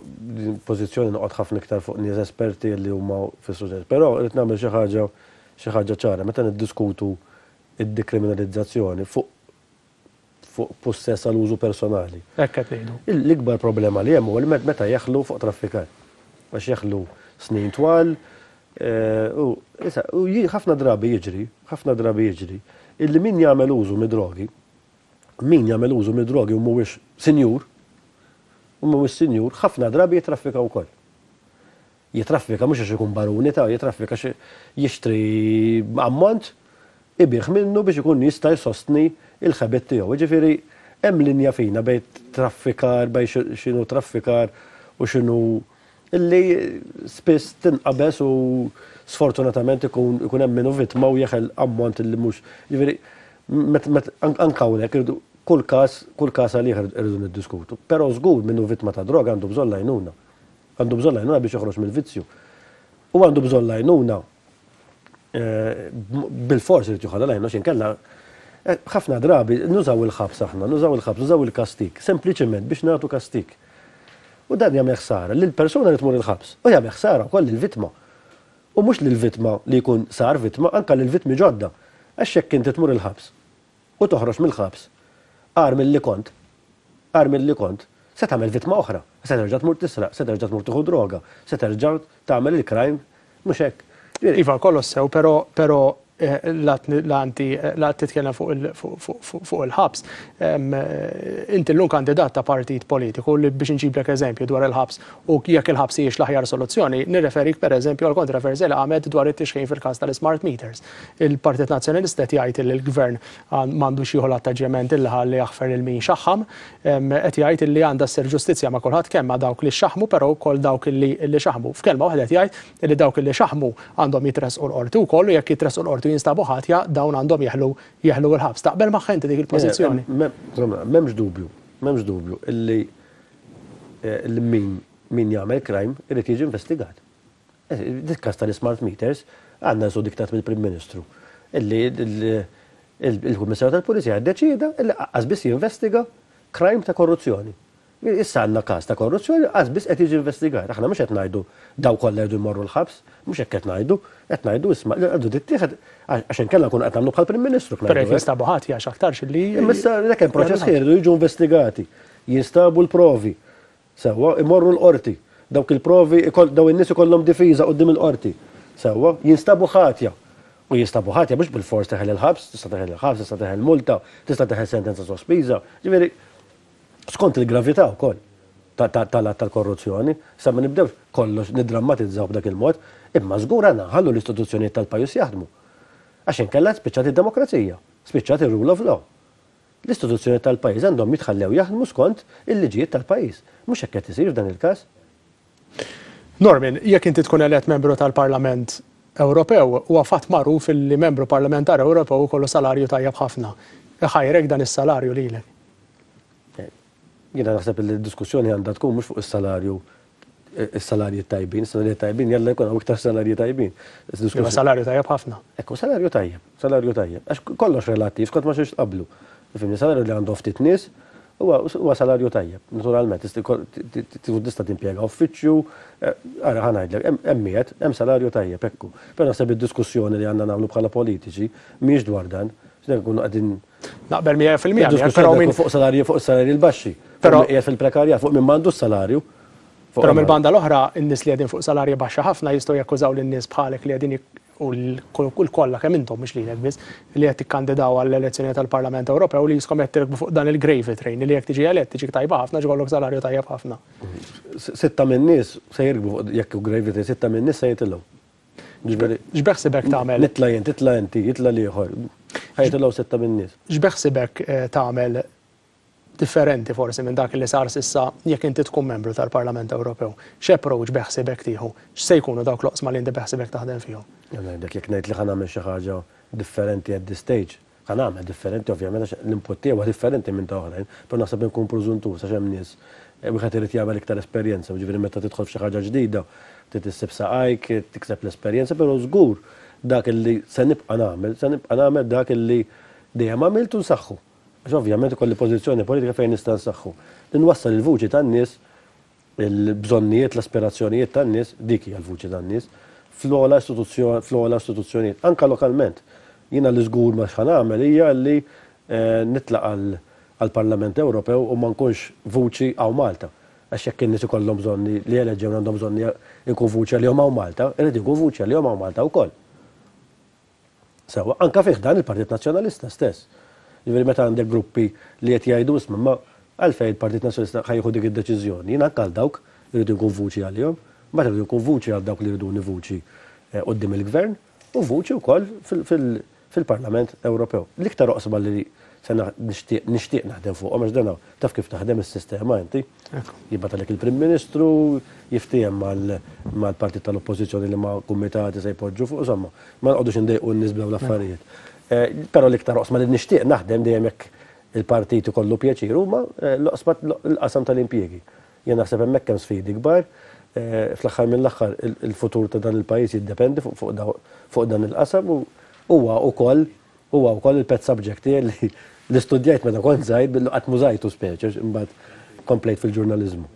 pożizzjoni noqgħod ħafna iktar fuq nies esperti li huma fis-suġġett, però rrid nagħmel xi ħaġa xi ħaġa ċara meta niddiskutu id-dekriminalizzazzjoni fuq fuq possess għal użu personali. Hekk qed ngħidu. L-ikbar problema li hemm huwa li meta jeħlu fuq traffikar. Għax jeħlu snin twal, u issa ħafna drabi jiġri, ħafna drabi jiġri, illi min jagħmel użu mid-drogi, min jagħmel użu mid-drogi u mhuwiex sinjur, u mhuwiex sinjur, ħafna drabi jitraffika wkoll. Jitraffika mhux għax ikun baruni ta' jitraffika għax jixtri ammont ibih minnu biex ikun jista' jsostni il-ħabit tiegħu. Jiġifieri hemm linja fina bejn traffikar, bejn x'inhu traffikar u x'inhu illi spiss tinqabeż u sfortunatament ikun ikun hemm minnu vittma u jeħel ammont illi mhux. Jiġifieri anke hawnhekk irridu kull każ kull każ għalih irridu niddiskutu. Però żgur minnu vittma ta' droga għandu bżonn l-għajnuna. Għandu bżonn l-għajnuna biex joħroġ mill-vizzju. U għandu bżonn l-għajnuna bil-fors irid joħodha l-għajnuna x'in kellha ħafna drabi nużaw il-ħabs aħna, nużaw il-ħabs, nużaw il-kastik, sempliċement biex nagħtu kastik. U dan jagħmel ħsara lill-persuna li tmur il-ħabs, u jagħmel ħsara wkoll lill-vittma. U mhux lill-vittma li jkun sar vittma, anke lill-vittmi ġodda. Għax jekk inti tmur il-ħabs u toħroġ mill-ħabs, agħar milli kont, agħar milli kont, se tagħmel vittma oħra, se terġa' tmur tisraq, se terġa' tmur tieħu droga, se terġa' tagħmel il-crime, mhux hekk. Iva, kollox sew, però però la la titkellem fuq il-ħabs. Inti llum kandidat ta' partit politiku li biex nġiblek eżempju dwar il-ħabs u jekk il-ħabs hijiex l-aħjar soluzzjoni, nirreferik pereżempju għal kontroversja li qamet dwar it-tixħin fil-każ tal-smart meters. Il-Partit Nazzjonalista qed jgħid li l-gvern m'għandux jieħu l-attaġġjament illi ħalli jaħfer lil min xaħħam, qed jgħid li għandha ssir ġustizzja ma' kulħadd kemm ma' dawk li xaħmu però wkoll dawk li xaħmu. F'kelma waħda qed jgħid li dawk li xaħmu għandhom jitressqu l-qorti wkoll u jekk jitressqu l-qorti jinstabu ħatja dawn għandhom jeħlu jeħlu l-ħabs. Taqbel magħha inti dik il-pożizzjoni? M'hemmx dubju, m'hemmx dubju illi illi min min jagħmel crime irid jiġi investigat. Dik każ tal-smart meters għandna su diktat mill-Prim Ministru illi il-Kummissarju tal-Pulizija ddeċieda illi qas biss jinvestiga crime ta' korruzzjoni. Issa għandna każ ta' korruzzjoni qas biss qed jiġi investigat. Aħna mhux qed ngħidu daw kollha jridu jmorru l-ħabs, mhux hekk qed ngħidu, qed ngħidu isma' li għandu tittieħed għax inkella nkunu qed nagħmlu bħall-Prim Ministru. Però jekk jinstabu ħadd għax aktarx li. Imma issa dak hemm proċess jridu jiġu investigati, jinstabu l-provi, sewwa imorru l-qorti, dawk il-provi daw in-nies ikollhom difiża quddiem il-qorti, sewwa jinstabu ħatja. U jinstabu ħatja mhux bil-fors teħel il-ħabs, tista' teħel il-ħabs, tista' teħel multa, tista' teħel sentenza sospiża, ġifieri skont il-gravità wkoll tal-att tal-korruzzjoni, sa ma nibdewx kollox niddrammatizzaw b'dak il-mod, imma żgur għandna nħallu l-istituzzjonijiet tal-pajjiż jaħdmu. Għax inkella spiċċat id-demokrazija, spiċċat ir-rule of law. L-istituzzjonijiet tal-pajjiż għandhom jitħallew jaħdmu skont il-liġijiet tal-pajjiż. Mhux hekk qed isir f'dan il-każ. Norman, jekk inti tkun elett membru tal-Parlament Ewropew, huwa fatt magħruf li membru parlamentari Ewropew ikollu salarju tajjeb ħafna. Iħajrek dan is-salarju lilek? Jiena naħseb li d-diskussjoni għandha tkun mhux fuq is-salarju, is-salarji tajbin, is-salarji tajbin jalla jkun hawn iktar salarji tajbin. Imma salarju tajjeb ħafna. Ekku, salarju tajjeb, salarju tajjeb. Għax kollox relattiv, skont ma xiex tqablu. Fimni, salarju li għandhom ftit nies Huwa salarju tajjeb, naturalment, tista' timpjega uffiċċju, ara ħa ngħidlek, hemm miet, hemm salarju tajjeb ekku. Però naħseb id-diskussjoni li għandna nagħmlu bħala politiċi mhijiex dwar dan. Nkunu qegħdin naqbel mija fil-mija, però minn fuq salarji fuq salarji l-baxxi. Però qiegħed fil-prekarjat fuq min m'għandux salarju. Però mill-banda l-oħra, in-nies li qegħdin fuq salarji baxxa ħafna jistgħu jakkużaw lin-nies bħalek li qegħdin u l-kollha kemm intom mhux lilek biss li qed tikkandidaw għall-elezzjoni tal-Parlament Ewropew li jiskom qed tirkbu fuq dan il-gravy train li jekk tiġi elett tiġik tajba ħafna ġollok salarju tajjeb ħafna. Sitta min-nies se jirkbu fuq jekk hu gravy train, sitta min-nies se jitilgħu. X'beħsibek tagħmel? Nitla' jien, titla' inti, jitla' l-ieħor. Ħa jitilgħu sitta min-nies. X'beħsibek tagħmel differenti forsi minn dak li sar sissa jekk inti tkun membru tal-Parlament Ewropew? X'approach beħsibek tieħu? X'se jkunu dawk l-oqsma li inti beħsibek taħdem fihom? Ngħidlek jekk ngħid li ħa nagħmel xi ħaġa differenti at this stage, ħa nagħmel differenti ovvjament għax l-input tiegħu huwa differenti minn ta' oħrajn, però naħseb inkun preżuntuż għax hemm nies wieħed irid jagħmel iktar esperjenza, jiġifieri meta tidħol f'xi ħaġa ġdida, trid issib saqajk, tikseb l-esperjenza, però żgur dak li se nibqa' nagħmel, se nibqa' nagħmel dak li dejjem għamilt u nsaħħu. Għax ovvjament ikolli pożizzjoni politika fejn nista' nsaħħu. Li nwassal il-vuċi tan-nies, il-bżonnijiet, l-aspirazzjonijiet tan-nies, dik hija l-vuċi tan-nies, fl-ogħla istituzzjoni, fl-ogħla istituzzjonijiet, anka lokalment. Jiena li żgur ma x'ħa nagħmel hija li nitlaq għall-Parlament Ewropew u ma nkunx vuċi hawn Malta. Għax jekk in-nies ikollhom bżonni li eleġġew għandhom bżonni jkun vuċi għalihom hawn Malta, irid ikun vuċi għalihom hawn Malta wkoll. Sewwa, anka fih dan il-Partit Nazzjonalista stess. Jiġifieri meta għandek gruppi li qed jgħidu isma' ma għalfejn il-Partit Nazzjonalista ħa jieħu dik id-deċiżjoni, jien anke għal dawk irridu nkun vuċi għalihom, mbagħad irridu nkun vuċi għal dawk li jriduni vuċi quddiem il-gvern u vuċi wkoll fil-Parlament Ewropew. L-iktar oqsma li se nixtieq nixtieq naħdem fuqhom għax dan taf kif taħdem is-sistema inti. Jibgħatalek il-Prim Ministru, jiftiehem mal-partit tal-Oppożizzjoni li ma' kumitati se jpoġġu fuq, insomma, ma nqogħdux indejqu n-nies b'dawn l-affarijiet. Però l-iktar oqsma li nixtieq naħdem dejjem jekk il-partit ikollu pjaċir huma l-oqsma l-qasam tal-impjiegi. Jien naħseb hemmhekk hemm sfidi kbar, fl-aħħar mill-aħħar il-futur ta' dan il-pajjiż jiddependi fuq dan il-qasam u huwa wkoll huwa wkoll il-pet subject tiegħi li studjajt meta kont żgħir billi qatt mużajtu speċi imbagħad komplejt fil-ġurnaliżmu.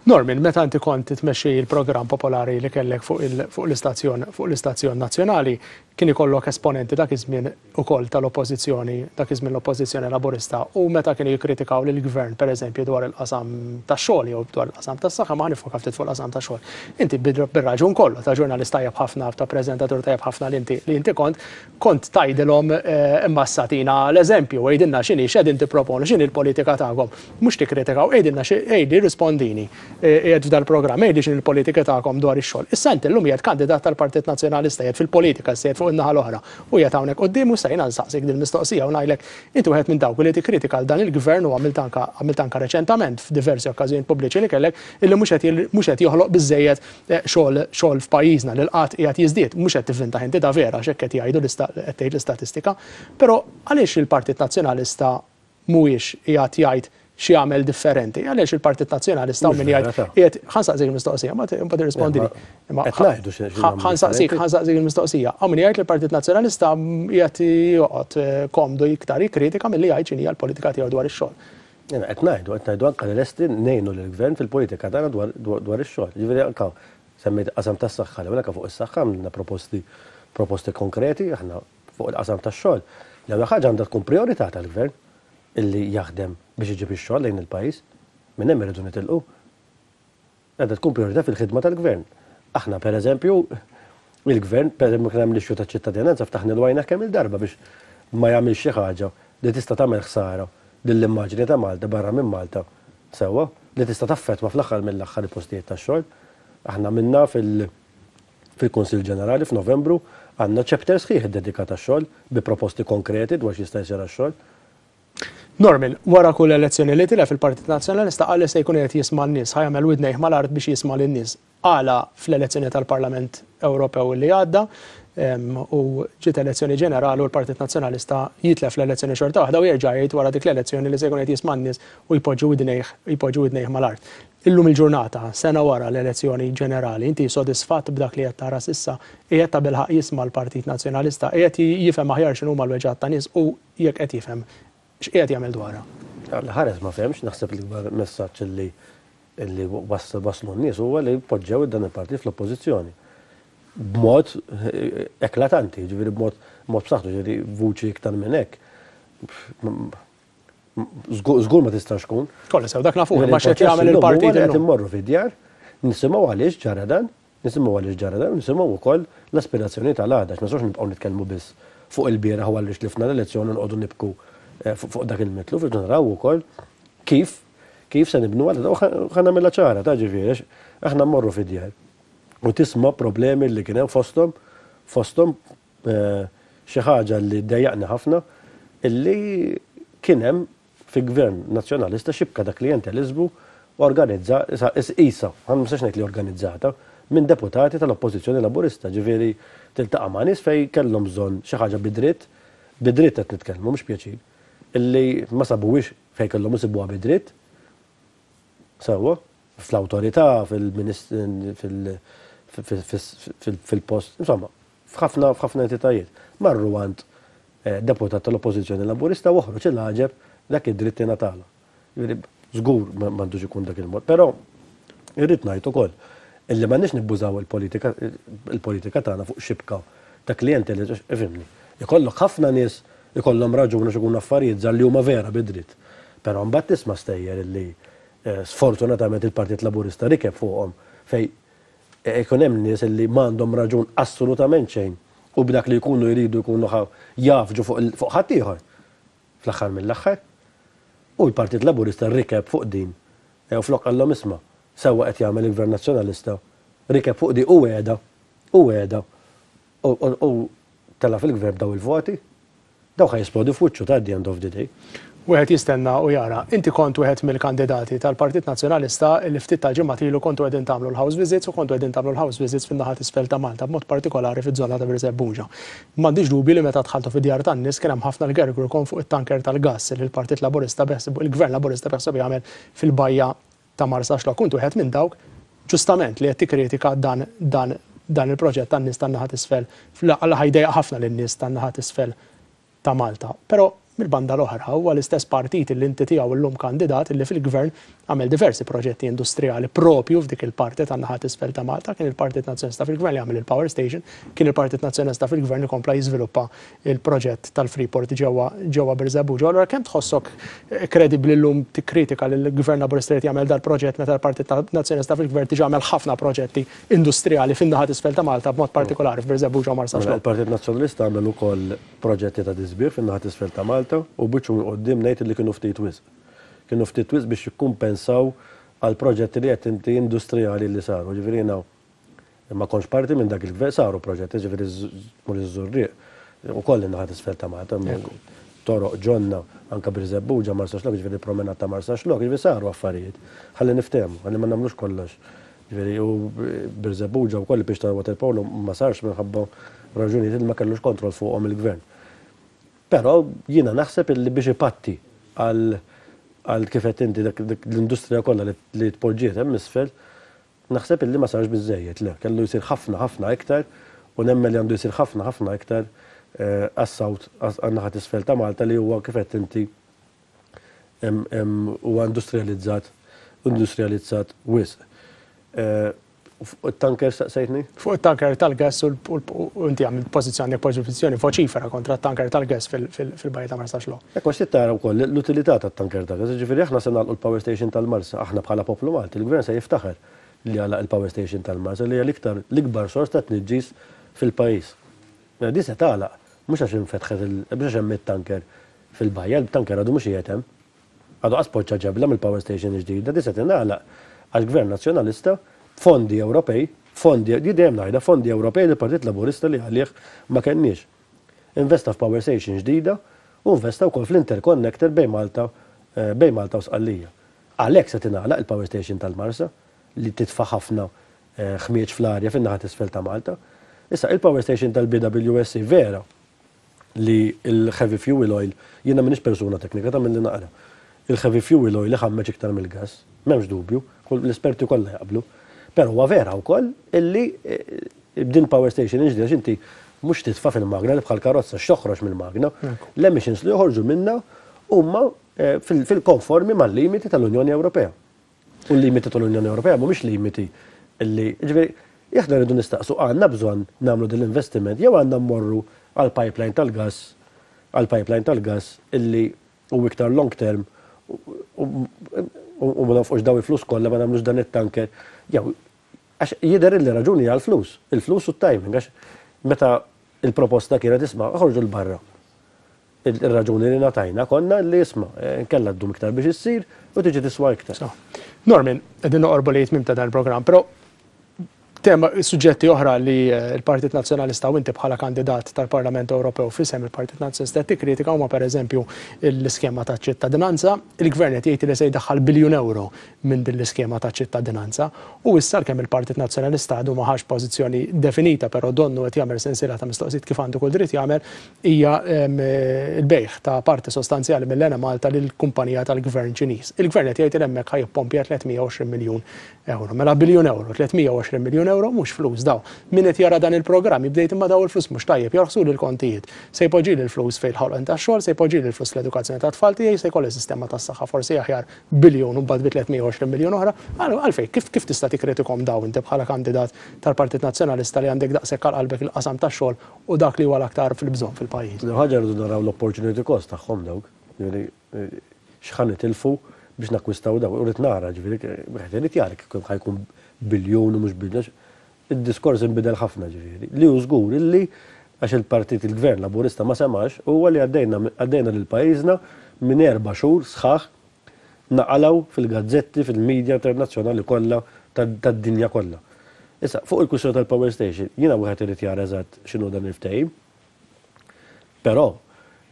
Norman, meta inti kont tmexxi il-programm popolari li kellek fuq l-istazzjon fuq l-istazzjon nazzjonali, kien ikollok esponenti dak iż-żmien ukoll tal-oppożizzjoni, dak iż-żmien l-oppożizzjoni laburista, u meta kienu jikkritikaw lill-gvern pereżempju dwar il-qasam tax-xogħol jew dwar il-qasam tas-saħħa, ma ħanifoka ftit fuq il-qasam tax-xogħol. Inti bir-raġun kollu ta' ġurnalist tajjeb ħafna, ta' preżentatur tajjeb ħafna li inti li inti kont kont tgħidilhom imma satina l-eżempju, għidilna x'inhi x'qegħdin tipproponu, x'inhi l-politika tagħkom. Mhux tikkritikaw, għidilna għidli rispondini. Qiegħed f'dal-programm, għidli x'inhi l-politika tagħkom dwar ix-xogħol. Issa inti llum qiegħed kandidat tal-Partit Nazzjonalista, qiegħed fil-politika, qiegħed fuq in-naħa l-oħra. U qiegħed hawnhekk quddiem u sejna nsaqsik din mistoqsija u ngħidlek inti wieħed minn dawk li tikkritika għal dan il-gvern u għamilt anka għamilt anka reċentament f'diversi okkażjonijiet pubbliċi li kellek illi mhux qed mhux qed joħloq biżejjed xogħol xogħol f'pajjiżna li l-qatt qiegħed jiżdied, mhux qed tivvinta inti da vera x'hekk qed jgħidu qed tgħid l-istatistika. Però għaliex il-Partit Nazzjonalista mhuwiex qiegħed jgħid xi jagħmel differenti? Għaliex il-Partit Nazzjonalista min jgħid qiegħed ħa nsaqsik il-mistoqsija, ma tirrispondini. Ħa nsaqsik, ħa nsaqsik il-mistoqsija. Hawn min jgħid li l-Partit Nazzjonalista qiegħed joqgħod komdu iktar jikkritika milli jgħid x'inhi l-politika tiegħu dwar ix-xogħol. Jiena qed ngħidu, qed ngħidu anke li lesti ngħinu lill-gvern fil-politika tagħna dwar ix-xogħol. Ġifieri anke semmejt qasam tas-saħħa, li anke fuq is-saħħa għamilna proposti proposti konkreti aħna fuq il-qasam tax-xogħol. L-ewwel ħaġa għandha tkun priorità tal-gvern illi jaħdem biex iġib ix-xogħol lejn il-pajjiż, minn hemm irridu nitilqu. Għandha tkun priorità fil-ħidma tal-gvern. Aħna pereżempju, il-gvern, pereżempju kien hemm l-issue taċ-ċittadinanza ftaħna l-għajna kemm il-darba biex ma jagħmilx xi ħaġa li tista' tagħmel ħsara lill-immaġni ta' Malta barra minn Malta sewwa li tista' taffettwa fl-aħħar mill-aħħar il-postijiet tax-xogħol. Aħna minna fil-Kunsill Ġenerali f'Novembru għandna chapter sħiħ iddedikat għax-xogħol bi proposti konkreti dwar x'jista' jsir għax-xogħol. Norman, wara kull elezzjoni li tilef il-Partit Nazzjonalista qal li se jkun qed jisma' n-nies, ħa jagħmel widnejh mal-art biex jisma' lin-nies. Għala fl-elezzjoni tal-Parlament Ewropew li għadda u ġiet elezzjoni ġenerali u l-Partit Nazzjonalista jitlef l-elezzjoni xorta waħda u jerġa' jgħid wara dik l-elezzjoni li se jkun qed jisma' n-nies u jpoġġu widnejh jpoġġu widnejh mal-art. Illum il-ġurnata, sena wara l-elezzjoni ġenerali, inti sodisfatt b'dak li qed tara s'issa, qiegħed ta' bilħaq jisma' l-Partit Nazzjonalista, qiegħed jifhem aħjar x'inhuma l-weġgħat ta' nies u jekk qed jifhem x'qiegħed jagħmel dwarha? Ħares ma fehemx, naħseb l-ikbar messaġġ li li waslu n-nies huwa li poġġew dan il-partit fl-oppożizzjoni. B'mod eklatanti, ġifieri b'mod mod b'saħħtu, ġifieri vuċi iktar minn hekk. Żgur ma tistax tkun. Kollha sew dak nafu, ma x'qed jagħmel il-partit qed immorru fid-djar, nisimgħu għaliex ġara dan, nisimgħu għaliex ġara dan, nisimgħu wkoll l-aspirazzjoni tal-għada, ma nistgħux nibqgħu nitkellmu biss fuq il-bieraħ u għaliex tlifna l-elezzjoni nqogħdu nibku fuq dak il-mitlu, irridu naraw ukoll kif kif se nibnu għal ħa nagħmilha ċara ta' ġifieri aħna mmorru fid-djar u tisma' problemi li kien hemm fosthom fosthom xi ħaġa li dejjaqni ħafna illi kien hemm fi gvern nazzjonalista xibka ta' klientelizmu organizza isa, ħa ma nistax ngħid li organizzata minn deputati tal-Oppożizzjoni Laburista, ġifieri tiltaqa' ma' nies fejn kellhom bżonn xi ħaġa bidritt, bidritt qed nitkellmu mhux pjaċir, illi ma sabuwix fejn kellhom isibuha bidritt. Sewwa, fl-awtorità, fil-post, insomma, f'ħafna f'ħafna entitajiet. Marru għand deputat tal-Oppożizzjoni Laburista u oħroġ il-għaġeb dak id-dritt ingħatala. Żgur m'għandux ikun dak il-mod, però irrid ngħid ukoll illi m'għandniex nibbużaw il-politika il-politika tagħna fuq xibka ta' klijenti li ifhimni. Ikollok ħafna nies ikollhom raġuni x'ikunu affarijiet żgħar li huma vera bid-dritt. Però mbagħad tisma' stejjer illi sfortunatament il-Partit Laburista rikeb fuqhom fej ikun hemm nies illi m'għandhom raġun assolutament xejn u b'dak li jkunu jridu jkunu jafġu fuq ħaddieħor fl-aħħar mill-aħħar. U l-Partit Laburista rikeb fuq din u flok qallhom isma' sewwa qed jagħmel il-Gvern Nazzjonalista, rikeb fuq di u wegħda, u wegħda u tela' fil-gvern daw il-voti, daw ħa jisplodi f'wiċċu ta' the end of the day. Wieħed jistenna u jara. Inti kont wieħed mill-kandidati tal-Partit Nazzjonalista li ftit tal-ġimgħat ilu kontu qegħdin tagħmlu l-house visits u kontu qegħdin tagħmlu l-house visits fin-naħa t'isfel ta' Malta, b'mod partikolari fiż-żona ta' Birżebbuġa. M'għandix dubju li meta dħaltu fid-djar tan-nies kien hemm ħafna l-gergurkom fuq it-tanker tal-gass li l-Partit Laburista beħseb, il-Gvern Laburista beħseb jagħmel fil-bajja ta' Marsaxlokk. Kont wieħed minn dawk ġustament li qed tikkritika dan, dan, dan il-proġett tan-nies tan-naħa t'isfel, għal ħajdejja ħafna lin-nies tan-naħa t'isfel ta' Malta. Però mill-banda l-oħra huwa l-istess partit li inti tiegħu llum kandidat li fil-gvern għamel diversi proġetti industrijali propju f'dik il-parti tan-naħa t'isfel ta' Malta. Kien il-Partit Nazzjonalista fil-gvern li għamel il-power station, kien il-Partit Nazzjonalista fil-gvern li kompla jiżviluppa il-proġett tal-Freeport ġewwa ġewwa Birżebbuġa. Allura kemm tħossok kredibbli llum tikkritika li l-Gvern Laburista qed jagħmel dal-proġett meta l-Partit Nazzjonalista fil-gvern diġà għamel ħafna proġetti industrijali fin-naħa t'isfel ta' Malta b'mod partikolari f'Birżebbuġa u Marsaxlokk? Il-Partit Nazzjonalista għamel ukoll proġetti ta' tisbieħ fin-naħa t'isfel ta' Malta u biċċu minn quddiem ngħid li kienu ftit wisq. Kienu ftit wisq biex jikkumpensaw għal proġetti li qed inti industrijali li saru. Ġifieri jiena ma kontx parti minn dak il-gvern, saru proġetti, ġifieri mur iż-Żurrieq ukoll in-naħa t'isfel ta' Malta, toroq ġonna anke Birżebbuġa, Marsaxlokk, ġifieri promenata ta' Marsaxlokk, ġifieri saru affarijiet. Ħalli niftehmu, ħalli ma nagħmlux kollox. Ġifieri u Birżebbuġa wkoll biex ta' waterpolo ma sarx minħabba raġunijiet li ma kellux kontroll fuqhom il-gvern. Però jiena naħseb illi biex ipatti għal għal kif qed inti dak l-industrija kollha li tpoġġiet hemm isfel, naħseb illi ma sarx biżejjed, le, kellu jsir ħafna ħafna iktar u nemmen li għandu jsir ħafna ħafna iktar għas-south, għan-naħa t'isfel ta' Malta li huwa kif qed inti huwa industrializzat, industrializzat wisq. Fuq it-tanker staqsejtni? Fuq it-tanker tal-gas u inti għamilt pożizzjoni, pożizzjoni voċifera kontra t-tanker tal-gas fil-bajja ta' Marsaxlokk. Ekku, għax tara wkoll l-utilità tat-tanker tal-gas, ġifieri aħna se nagħlqu l-power station tal-Marsa, aħna bħala poplu Malti, il-gvern se jiftaħar li għalaq il-power station tal-Marsa li hija l-iktar l-ikbar sors ta' tniġġis fil-pajjiż. Mela di se tagħlaq, mhux għax infetħet il-, mhux għax hemm it-tanker fil-bajja, il-tanker għadu mhux qiegħed hemm. Għadu qas poġġa ġebla mill-power station ġdida, di se tingħalaq għax gvern nazzjonalista fondi Ewropej, fondi, di dejjem ngħidha, fondi Ewropej li Partit Laburista li għalih ma kenniex. Investa f'power station ġdida u investa wkoll fl-interconnector bejn Malta, bejn Malta u Sqallija. Għalhekk se tingħalaq il-power station tal-Marsa li titfa' ħafna ħmieġ fl-arja fin-naħa t'isfel ta' Malta. Issa il-power station tal-B W S C vera li il-heavy fuel oil, jiena m'iniex persuna teknika ta' milli naqra. Il-heavy fuel oil iħammeġ iktar mill-gas, m'hemmx dubju, l-esperti kollha jaqblu. Però huwa vera wkoll illi b'din power station ġdida inti mhux titfa' fil-magna li bħal karozza x'toħroġ mill-magna, l-emissions li joħorġu minna huma fil-konformi mal-limiti tal-Unjoni Ewropea. U l-limiti tal-Unjoni Ewropea mhumiex limiti illi, ġifieri, aħna rridu nistaqsu għandna bżonn nagħmlu din l-investiment jew għandna mmorru għal pipeline tal-gas għal pipeline tal-gas illi hu iktar long term u ma nafqux daw il-flus kollha, ma nagħmlux dan it-tanker. Jew għax jidher li raġuni għal flus, il-flus u t-timing, għax meta il-proposta kienet, isma', ħorġu 'l barra. Il-raġuni li ngħatajna konna li, isma', nkella ddum iktar biex issir u tiġi tiswa iktar. Norman, qegħdin noqorbu lejn tmiem ta' dan il-programm, però tema suġġetti oħra li l-Partit Nazzjonalista u inti bħala kandidat tal-Parlament Ewropew f'isem il-Partit Nazzjonalista tikkritika huma pereżempju l-iskema ta' ċittadinanza. Il-Gvern qed jgħid li se jdaħħal biljun euro minn din l-iskema ta' ċittadinanza. U issa kemm il-Partit Nazzjonalista għadu ma ħax pożizzjoni definita, però donnu qed jagħmel sensiela ta' mistoqsijiet kif għandu kull dritt jagħmel, hija il-bejgħ ta' parti sostanzjali mill-Enemalta lill-kumpanija tal-Gvern Ċiniż. Il-Gvern qed jgħid li hemmhekk ħa jippompja tliet mija u għoxrin miljun euro. Mela biljun euro, tliet mija u għoxrin miljun euro mhux flus daw. Min qed jara dan il-programm jibdejt imma daw il-flus mhux tajjeb jorħsu l-kontijiet. Se jpoġġi l-flus fejn il-ħolqien tax-xogħol, se jpoġġi l-flus l-edukazzjoni tat-tfal tiegħi, se jkolli sistema tas-saħħa forsi aħjar biljun u mbagħad bi tliet mija u għoxrin miljun oħra. Għalfejn, kif kif tista' tikkritikahom daw inti bħala kandidat tal-Partit Nazzjonalista li għandek daqshekk għal qalbek il-qasam tax-xogħol u dak li huwa l-aktar fil-bżonn fil-pajjiż? Ħaġa, rridu naraw l-opportunity cost tagħhom dawk. X'ħa nitilfu biex nakkwistaw daw. U rrid nara, ġifieri, wieħed irid jara kif ħa jkun biljun u mhux biljun. Id-diskors inbidel ħafna, ġifieri. Li hu żgur illi għax il-partit il-Gvern Laburista ma semax huwa li għaddejna għaddejna lil pajjiżna minn erba' xhur sħaħ naqalaw fil-gazzetti, fil-medja internazzjonali kollha tad-dinja kollha. Issa, fuq il-kwistjoni tal-power station, jiena wieħed irid jara eżatt x'inhu dan il-ftehim. Però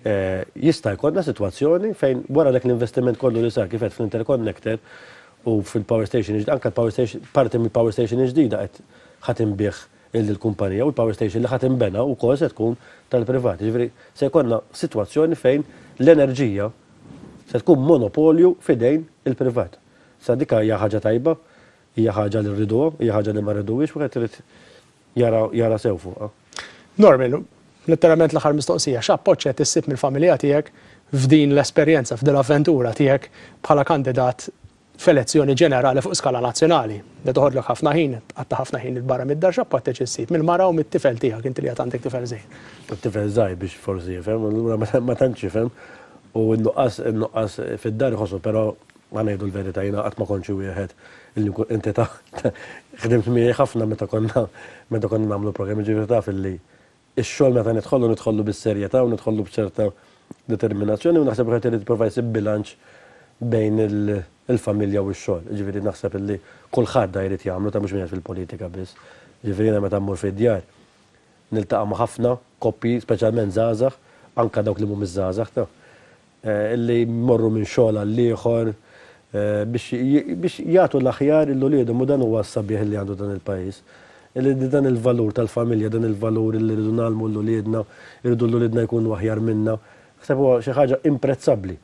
eh, jista' jkollna sitwazzjoni fejn wara dak l-investiment kollu li sar kif qed fl-interconnector u fil-power station, anka l-power station, parti mill-power station ġdida qed ħa tinbiegħ il-kumpanija u l-power station li ħa tinbena wkoll se tkun tal-privati. Ġifieri se jkollna sitwazzjoni fejn l-enerġija se tkun monopolju f'idejn il-privat. Sa dik hija ħaġa tajba, hija ħaġa li rriduha, hija ħaġa li ma rriduhiex, wieħed irid jara jara sew fuqha. Norman, letteralment l-aħħar mistoqsija, x'appoġġ qed issib mill-familja tiegħek f'din l-esperjenza, f'din l-avventura tiegħek bħala kandidat f'elezzjoni ġenerali fuq skala nazzjonali? Da toħodlok ħafna ħin, għatta ħafna ħin il-barra mid-dar, x'appoġġ issib mill-mara u mit-tifel tiegħek, inti li għad għandek tifel żgħir? It-tifel żgħir biex forsi jifhem, allura ma tantx jifhem u n-nuqqas n-nuqqas fid-dar iħossu, però ma ngħidu l-verità, jiena qatt ma kontx wieħed illi inti ta' ħdimt miegħi ħafna meta konna meta konna nagħmlu programmi, ġifieri taf illi ix-xogħol meta nidħollu nidħollu bis-serjetà u nidħollu b'ċerta determinazzjoni u naħseb qed irid jipprova jsib bilanċ bejn il-familja u x-xogħol. Ġifieri naħseb illi kulħadd da jrid jagħmlu ta' mhux minn fil-politika biss. Ġifieri jiena meta mmur fid-djar niltaqa' ma' ħafna koppji, speċjalment żgħażagħ, anka dawk li mhumiex żgħażagħ ta' illi jmorru minn xogħol għal ieħor biex jagħtu l-aħjar lil uliedhom u dan huwa s-sabiħ li għandu dan il-pajjiż. Illi dan il-valur tal-familja, dan il-valur li rridu ngħallmu lil uliedna, irridu lil uliedna jkunu aħjar minna. Naħseb huwa xi ħaġa imprezzabbli.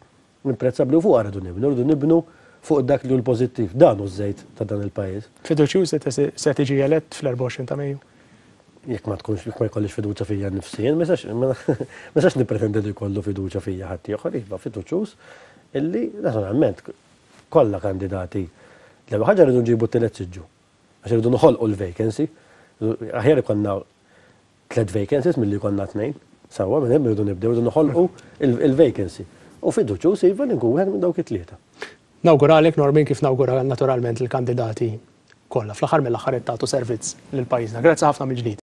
Imprezzabbli u fuq rridu nibnu, rridu nibnu fuq dak li hu l-pożittiv. Dan hu żejt ta' dan il-pajjiż. Fiduċjuż se tiġi elett fl-erbgħa u għoxrin ta' Mejju? Jekk ma tkunx, jekk ma jkollix fiduċja fija nnifsi, ma nistax nippretendi li jkollu fiduċja fija ħadd ieħor, iva, fiduċjuż illi naturalment kollha kandidati. L-ewwel ħaġa rridu nġibu t-tielet siġġu. Għax irridu noħolqu l-vacancy. Aħjar ikollna tliet vacancies milli jkollna tnejn. Sewwa, minn hemm irridu nibdew, irridu noħolqu il-vacancy. U fiduċjuż, iva, li nkun wieħed minn dawk it-tlieta. Nawguralek, Norman, kif nawgura naturalment il-kandidati kollha. Fl-aħħar mill-aħħar tagħtu servizz lil pajjiżna. Grazzi ħafna mill-ġdid.